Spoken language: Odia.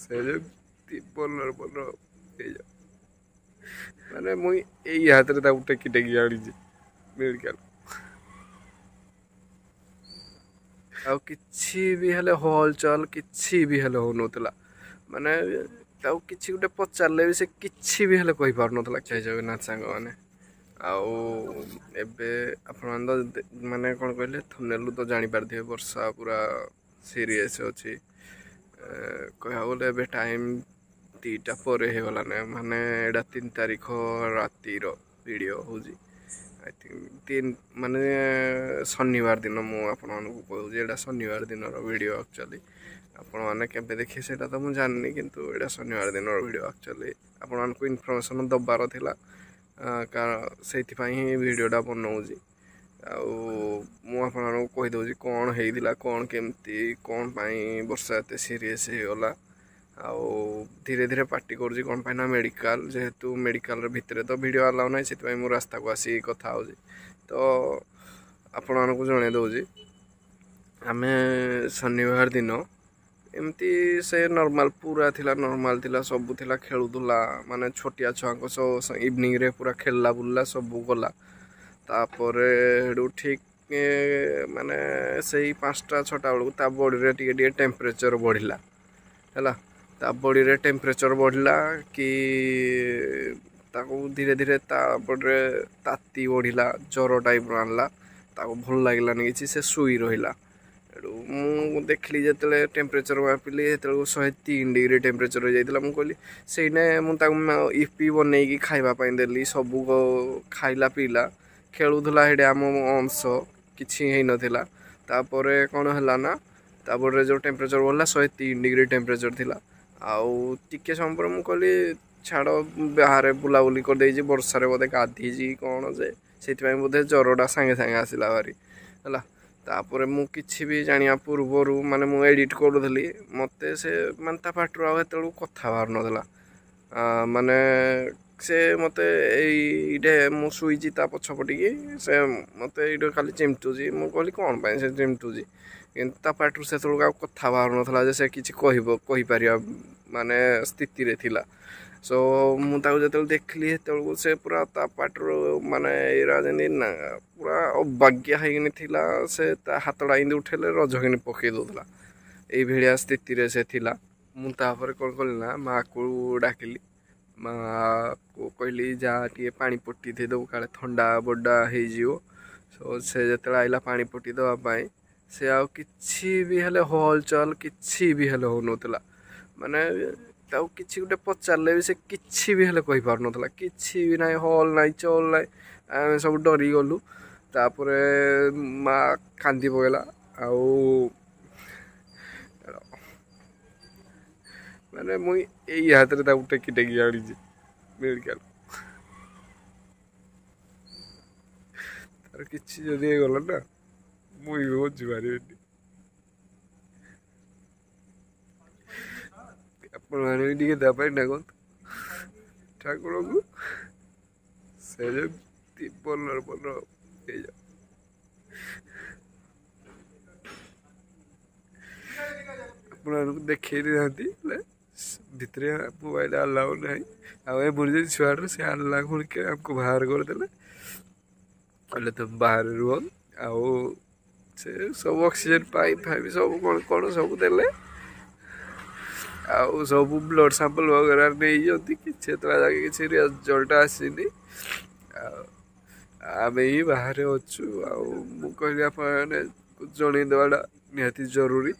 ସେ ଯେମିତି ବଲର ବଲର ହେଇଯାଉ। ମାନେ ମୁଇଁ ଏଇ ହାତରେ ତାକୁ ଟେକି ଟେକି ଆଣିଛି ମେଡ଼ିକାଲ। ଆଉ କିଛି ବି ହେଲେ ହଲଚଲ କିଛି ବି ହେଲେ ହଉନଥିଲା। ମାନେ ତାକୁ କିଛି ଗୋଟେ ପଚାରିଲେ ବି ସେ କିଛି ବି ହେଲେ କହିପାରୁନଥିଲା। ଜୟ ଜଗନ୍ନାଥ ସାଙ୍ଗମାନେ। ଆଉ ଏବେ ଆପଣମାନେ ତ ମାନେ କ'ଣ କହିଲେ, ଥମ୍ବନେଲରୁ ତ ଜାଣିପାରିଥିବେ ବର୍ଷା ପୁରା ସିରିୟସ୍ ଅଛି। କହିବାକୁ ଗଲେ ଏବେ ଟାଇମ୍ 2ଟା ପରେ ହେଇଗଲାନି। ମାନେ ଏଇଟା 3 ତାରିଖ ରାତିର ଭିଡ଼ିଓ ହେଉଛି, I think 3, ମାନେ ଶନିବାର ଦିନ। ମୁଁ ଆପଣମାନଙ୍କୁ କହୁଛି, ଏଇଟା ଶନିବାର ଦିନର ଭିଡ଼ିଓ ଆକ୍ଚୁଆଲି। ଆପଣମାନେ କେବେ ଦେଖିବେ ସେଇଟା ତ ମୁଁ ଜାଣିନି, କିନ୍ତୁ ଏଇଟା ଶନିବାର ଦିନର ଭିଡ଼ିଓ ଆକ୍ଚୁଆଲି। ଆପଣମାନଙ୍କୁ ଇନଫର୍ମେସନ୍ ଦେବାର ଥିଲା, କାରଣ ସେଇଥିପାଇଁ ହିଁ ଭିଡ଼ିଓଟା ବନଉଛି। ଆଉ ମୁଁ ଆପଣମାନଙ୍କୁ କହିଦେଉଛି କ'ଣ ହେଇଥିଲା, କ'ଣ କେମିତି, କ'ଣ ପାଇଁ ବର୍ଷା ଏତେ ସିରିୟସ୍ ହେଇଗଲା ଆଉ ଧୀରେ ଧୀରେ ପାଟି କରୁଛି କ'ଣ ପାଇଁ ନା ମେଡ଼ିକାଲ, ଯେହେତୁ ମେଡ଼ିକାଲର ଭିତରେ ତ ଭିଡ଼ିଓ ଆଲାଉ ନାହିଁ, ସେଥିପାଇଁ ମୁଁ ରାସ୍ତାକୁ ଆସିକି କଥା ହେଉଛି। ତ ଆପଣମାନଙ୍କୁ ଜଣେଇ ଦେଉଛି, ଆମେ ଶନିବାର ଦିନ ଏମିତି ସେ ନର୍ମାଲ ପୁରା ଥିଲା, ନର୍ମାଲ ଥିଲା, ସବୁ ଥିଲା, ଖେଳୁଥିଲା, ମାନେ ଛୋଟିଆ ଛୁଆଙ୍କ ସହ ଇଭିନିଂରେ ପୁରା ଖେଳିଲା ବୁଲିଲା ସବୁ କଲା। ତାପରେ ହେଠୁ ଠିକ୍ ମାନେ ସେଇ 5ଟା 6ଟା ବେଳକୁ ତା ବଡ଼ିରେ ଟିକେ ଟିକେ ଟେମ୍ପରେଚର୍ ବଢ଼ିଲା। ହେଲା, ତା ବଡ଼ିରେ ଟେମ୍ପରେଚର୍ ବଢ଼ିଲା କି ତାକୁ ଧୀରେ ଧୀରେ ତା ବଡ଼ିରେ ତାତି ବଢ଼ିଲା, ଜ୍ୱର ଟାଇପ୍ର ଆଣିଲା। ତାକୁ ଭଲ ଲାଗିଲାନି କିଛି, ସେ ଶୋଇ ରହିଲା। ଏଠୁ ମୁଁ ଦେଖିଲି, ଯେତେବେଳେ ଟେମ୍ପରେଚର୍ ମାପିଲି ସେତେବେଳକୁ 103 ଡିଗ୍ରୀ ଟେମ୍ପରେଚର୍ ହେଇଯାଇଥିଲା। ମୁଁ କହିଲି ସେଇନେ ମୁଁ ତାକୁ ଇପି ବନେଇକି ଖାଇବା ପାଇଁ ଦେଲି, ସବୁ ଖାଇଲା ପିଇଲା, ଖେଳୁଥିଲା ସେଇଠି ଆମ ଅଂଶ, କିଛି ହେଇନଥିଲା। ତାପରେ କ'ଣ ହେଲା ନା, ତାପରେ ଯେଉଁ ଟେମ୍ପରେଚର୍ ବଢ଼ିଲା, 103 ଡିଗ୍ରୀ ଟେମ୍ପରେଚର୍ ଥିଲା। ଆଉ ଟିକେ ସମୟ ପରେ ମୁଁ କହିଲି ଛାଡ଼, ବାହାରେ ବୁଲାବୁଲି କରିଦେଇଛି, ବର୍ଷାରେ ବୋଧେ ଗାଧେଇଛି କ'ଣ ଯେ ସେଇଥିପାଇଁ ବୋଧେ ଜ୍ୱରଟା ସାଙ୍ଗେ ସାଙ୍ଗେ ଆସିଲା ଭାରି ହେଲା। ତାପରେ ମୁଁ କିଛି ବି ଜାଣିବା ପୂର୍ବରୁ, ମାନେ ମୁଁ ଏଡ଼ିଟ୍ କରୁଥିଲି, ମୋତେ ସେ ମାନେ ତା ପାଟିରୁ ଆଉ ସେତେବେଳକୁ କଥା ବାହାରୁନଥିଲା। ମାନେ ସେ ମୋତେ ଏଇଟେ, ମୁଁ ଶୋଇଛି ତା ପଛପଟିକି, ସେ ମୋତେ ଏଇଠି ଖାଲି ଚିମଟୁଛି। ମୁଁ କହିଲି କ'ଣ ପାଇଁ ସେ ଚିମଟୁଛି? କିନ୍ତୁ ତା ପାଟିରୁ ସେତେବେଳକୁ ଆଉ କଥା ବାହାରୁନଥିଲା ଯେ ସେ କିଛି କହିବ, କହିପାରିବା ମାନେ ସ୍ଥିତିରେ ଥିଲା। ସୋ ମୁଁ ତାକୁ ଯେତେବେଳେ ଦେଖିଲି, ସେତେବେଳକୁ ସେ ପୁରା ତା ପାଟିରୁ ମାନେ ଏଇରା ଯେମିତି ନା ପୁରା ଅବାଜ୍ଞା ହେଇକିନି ଥିଲା। ସେ ତା ହାତଟା ଏମିତି ଉଠେଇଲେ ରଜକିନି ପକେଇ ଦେଉଥିଲା, ଏଇଭଳିଆ ସ୍ଥିତିରେ ସେ ଥିଲା। ମୁଁ ତାପରେ କ'ଣ କଲି ନା ମାଆକୁ ଡାକିଲି। ମାଆକୁ କହିଲି ଯା ଟିକେ ପାଣି ପଟି ଦେଇଦେବୁ, କାଳେ ଥଣ୍ଡା ବଡ଼ା ହେଇଯିବ। ସୋ ସେ ଯେତେବେଳେ ଆଇଲା ପାଣି ପଟି ଦେବା ପାଇଁ, ସେ ଆଉ କିଛି ବି ହେଲେ ହଲଚଲ କିଛି ବି ହେଲେ ହଉନଥିଲା। ମାନେ ତାକୁ କିଛି ଗୋଟେ ପଚାରିଲେ ବି ସେ କିଛି ବି ହେଲେ କହିପାରୁନଥିଲା। କିଛି ବି ନାହିଁ, ହଲ୍ ନାହିଁ, ଚଲ୍ ନାହିଁ। ଆମେ ସବୁ ଡରିଗଲୁ। ତାପରେ ମା କାନ୍ଦି ପକେଇଲା। ଆଉ ମାନେ ମୁଁ ଏଇ ହାତରେ ତାକୁ ଟେକି ଟେକି ଆଣିଛି ମେଡ଼ିକାଲ। ତାର କିଛି ଯଦି ହେଇଗଲା ନା, ମୁଁ ବି ବଞ୍ଚିପାରିବିନି। ଆପଣମାନେ ବି ଟିକେ ତା ପାଇଁ ଡାକନ୍ତୁ ଠାକୁରଙ୍କୁ, ସେ ଯେମିତି ଭଲରେ ଭଲ ହେଇଯାଉ। ଆପଣମାନଙ୍କୁ ଦେଖେଇ ଦେଇଥାନ୍ତି, ହେଲେ ଭିତରେ ମୋବାଇଲ ଆଲାଉ ନାହିଁ। ଆଉ ଏମର୍ଜେନ୍ସି ୱାର୍ଡ଼ରେ ସେ ଆଣିଲା ଖୁଣିକେ ଆମକୁ ବାହାର କରିଦେଲେ, କହିଲେ ତୁମେ ବାହାରେ ରୁହ। ଆଉ ସେ ସବୁ ଅକ୍ସିଜେନ୍ ପାଇପ୍ ଫାଇପ୍ ସବୁ କ'ଣ କ'ଣ ସବୁ ଦେଲେ, ଆଉ ସବୁ ବ୍ଲଡ଼ ସାମ୍ପଲ୍ ବଗେରା ନେଇଛନ୍ତି। କିଛି ଏତେବେଳେ ଯାକେ କିଛି ରେଜଲ୍ଟ ଆସିନି, ଆଉ ଆମେ ହିଁ ବାହାରେ ଅଛୁ। ଆଉ ମୁଁ କହିଲି ଆପଣମାନେ ଜଣେଇ ଦେବାଟା ନିହାତି ଜରୁରୀ।